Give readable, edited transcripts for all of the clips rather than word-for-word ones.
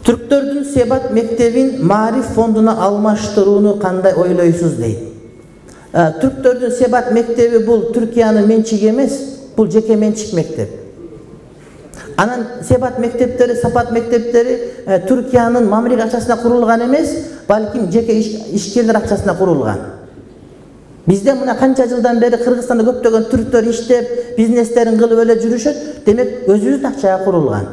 Түрктөрдүн Себат мектебин Маариф фондуна алмаштырууну кандай ойлойсуз дейт. Түрктөрдүн Себат мектеби бул Түркиянын менчиги эмес, бул жеке менчик мектеп. Анан Себат мектептери, Сапат мектептери Түркиянын мамилек акчасына курулган эмес, балким жеке ишкерлер акчасына курулган. Бизде мына канча жылдан бери Кыргызстанда көптөгөн түрктөр иштеп, бизнестерин кылып эле жүрүшөт, демек өзүбүздүн акчага курулган.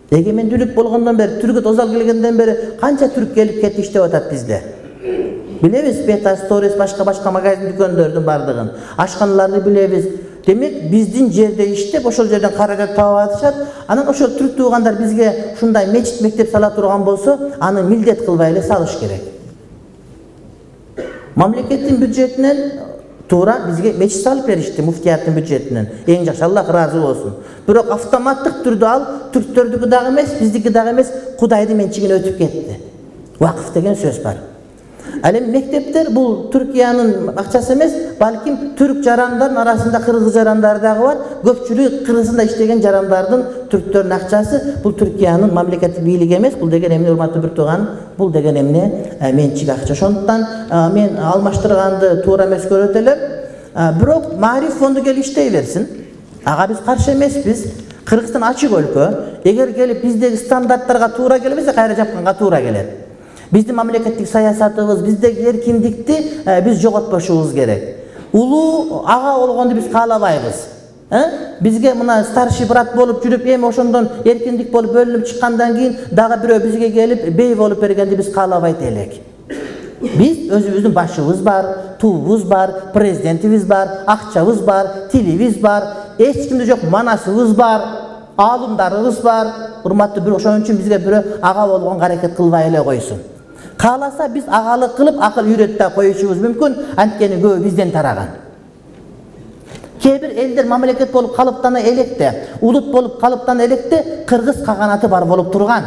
Эгемендүүлүк болгондон бери, түркү тозал келгенден бери канча түрк келип кетип иштеп атат бизде. Билебиз, Бета Сторис, башка магазин дүкөндөрдүн бардыгын, ашканаларды билебиз. Демек биздин жерде иштеп, ошол жерден каражат таап атышат. Анан ошол түрк туугандар бизге ушундай мечит, мектеп сала турган болсо, аны милдет кылбай эле салыш керек. Мамлекеттин бюджетинен туура бизге мечит салып беришти, муфтияттын бюджетинен. Эң жакшы, Аллах ыраазы болсун. Бирок автоматтык түрдө ал түрктөрдүкү дагы эмес, биздики дагы эмес, Кудайдын менчигине өтүп кетти. Вакыф деген сөз бар. Ал эми мектептер бул Түркиянын акчасы эмес, балким түрк жарандардын арасында кыргыз жарандар дагы бар. Көпчүлүгү Кыргызстанда иштеген жарандардын, түрктөрдүн акчасы бул Түркиянын мамлекеттик бийлиги эмес, бул деген эмне урматтуу бир тууган, бул деген эмне менчик акча. Ошондуктан мен алмаштырганды туура эмес көрөт элем. Бирок Маариф фонду келип иштей берсин. Ага биз каршы эмеспиз. Кыргызстан ачык өлкө. Эгер келип биздеги стандарттарга туура келбесе, кайра жапканга туура келет. Биздин мамлекеттик саясатыбыз, биздеги эркиндикти биз жоготпошубуз керек. Улуу ага болгонду биз каалабайбыз. Бизге мына старший брат болуп жүрүп, эми ошондон эркиндик болуп бөлүнүп чыккандан кийин дагы бирөө бизге келип бей болуп бергенди биз каалабайт элек. Биз өзүбүздүн башыбыз бар, туубуз бар, президентибиз бар, акчабыз бар, тилибиз бар, эч кимде жок манасыбыз бар, аалымдарыбыз бар. Урматтуу бирок ошон үчүн бизге бирөө ага болгонго аракет кылбай эле койсун. Кааласа биз агалык кылып акыл үйрөтүп да коюшубуз мүмкүн, анткени көбү бизден тараган. Кээ бир элдер мамлекет болуп калыптана электе, улут болуп калыптана электе кыргыз каганаты бар болуп турган.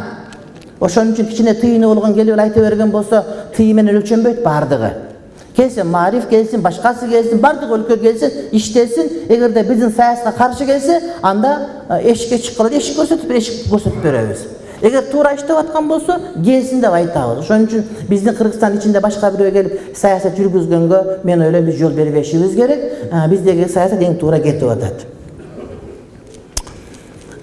Ошон үчүн кичине тыйыны болгон келип айта берген болсо, тыйы менен өлчөнбөйт бардыгы. Келсин Маариф, келсин башкасы келсин, бардык өлкө келсин, иштесин. Эгерде биздин саясатка каршы келсе, анда эшикке чыккыла, эшик көрсөтүп беребиз. Эгер туура иштеп аткан болсо, келсин деп айтабыз. Ошон үчүн биздин Кыргызстан ичинде башка бирөө келип саясат жүргүзгөнгө мен ойлойм биз жол бербешибиз керек. Биздеги саясат эң туура кетип атат.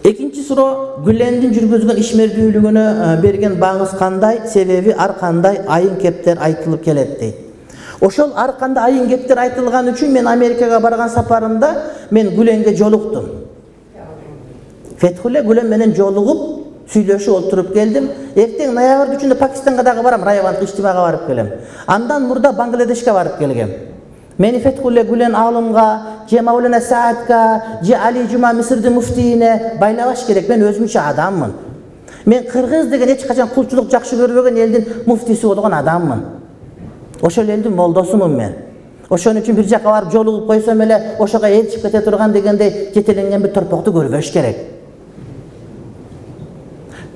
Экинчи суроо, Гүлендин жүргүзгөн ишмердүүлүгүнө берген баңыз кандай? Себеби ар кандай айын кептер айтылып келет дейт. Ошол ар кандай айын кептер айтылган үчүн мен Америкага барган сапарымда мен Гүленге жолуктум. Фетхулле Гүлен менен жолугуп, сүйлөшүп отуруп келдим. Эртең ноябрь 3-үндө Пакистанга дагы барам, районлук иштимага барып келем. Андан мурда Бангладешке барып келгем. Мени Фетхулле Гүлен алымга, же Маулана Саатка, же Али Жума Мисирдин муфтийине байлабаш керек. Мен өзүмчө адаммын. Мен кыргыз деген эч качан кулчулук жакшы көрбөгөн элдин муфтиси болгон адаммын. Ошол элдин молдосумун мен. Ошон үчүн бир жака барып жолугуп койсом эле ошого ээрчип кете турган дегендей жетеленген бир торпокту көрбөш керек.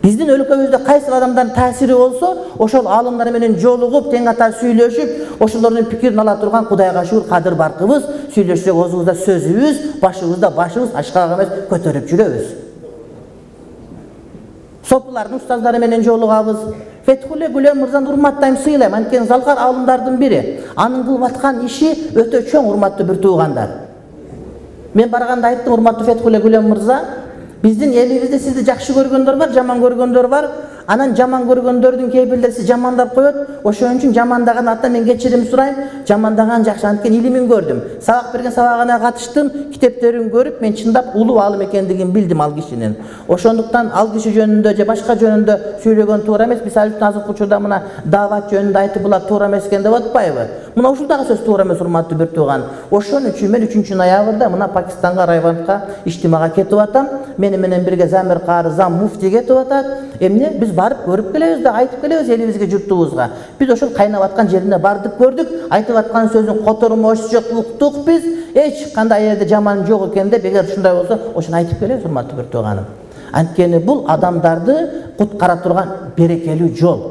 Биздин өлкөбүздө кайсы адамдардын таасири болсо, ошол аалымдар менен жолугуп, тең ата сүйлөшүп, ошолордун пикирин ала турган Кудайга шүгүр кадыр баркыбыз, сүйлөшсөк оозубузда сөзүбүз, башыбызда башыбыз ачкак эмес көтөрүп жүрөбүз. Сопулардын устаздары менен жолугабыз. Фетхулле Гүлен мырзаны урматтайм, сыйлайм, анткени залкар аалымдардын бири. Анын кылып аткан иши өтө чоң, урматтуу бир туугандар. Мен барганда айттым, урматтуу Фетхулле Гүлен мырза, биздин элибизде сизди жакшы көргөндөр бар, жаман көргөндөр бар. Анан жаман көргөндөрдүн кээ бирлери сизди жамандап коет. Ошон үчүн жамандаган аттан мен кечирим сурайм. Жамандаган жакшы, анткени илимин көрдүм. Сабак берген сабагына катыштым, китептерин көрүп, мен чындап улуу аалым экендигин билдим ал кишинин. Ошондуктан ал киши жөнүндө же башка жөнүндө сүйлөгөн туура эмес. Мисалы үчүн азыркы учурда мына даават жөнүндө айтып булар туура эмес экен деп атпайбы? Мына ушул дагы сөз туура эмес, урматтуу бир тууган. Ошон үчүн мен 3 ноябрда мына Пакистанга, Райвандга иштимага кетип атам. Мени менен бирге Замир Кары зам муфти кетип атат. Эмне биз барып көрүп келебиз да айтып келебиз элибизге, журтубузга. Биз ошол кайнап аткан жерине бардык, көрдүк. Айтып аткан сөздүн котормошу жок, уктук биз. Эч кандай жерде жаман жок экен деп, эгер ушундай болсо, ошону айтып келебиз, урматтуу бир тууганым. Анткени бул адамдарды куткара турган берекелүү жол.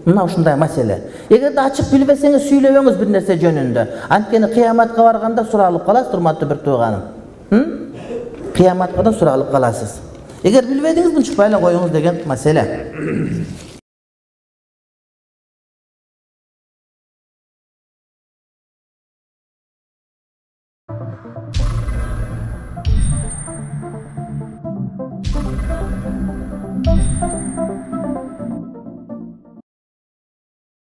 Мына ушундай маселе. Эгерде ачык билбесеңиз сүйлөбөңүз бир нерсе жөнүндө. Анткени кыяматка барганда суралып каласыз, урматтуу бир тууганым. Кыяматка да суралып каласыз. Эгер билбедиңиз, мынчыкпай эле коюңуз деген маселе.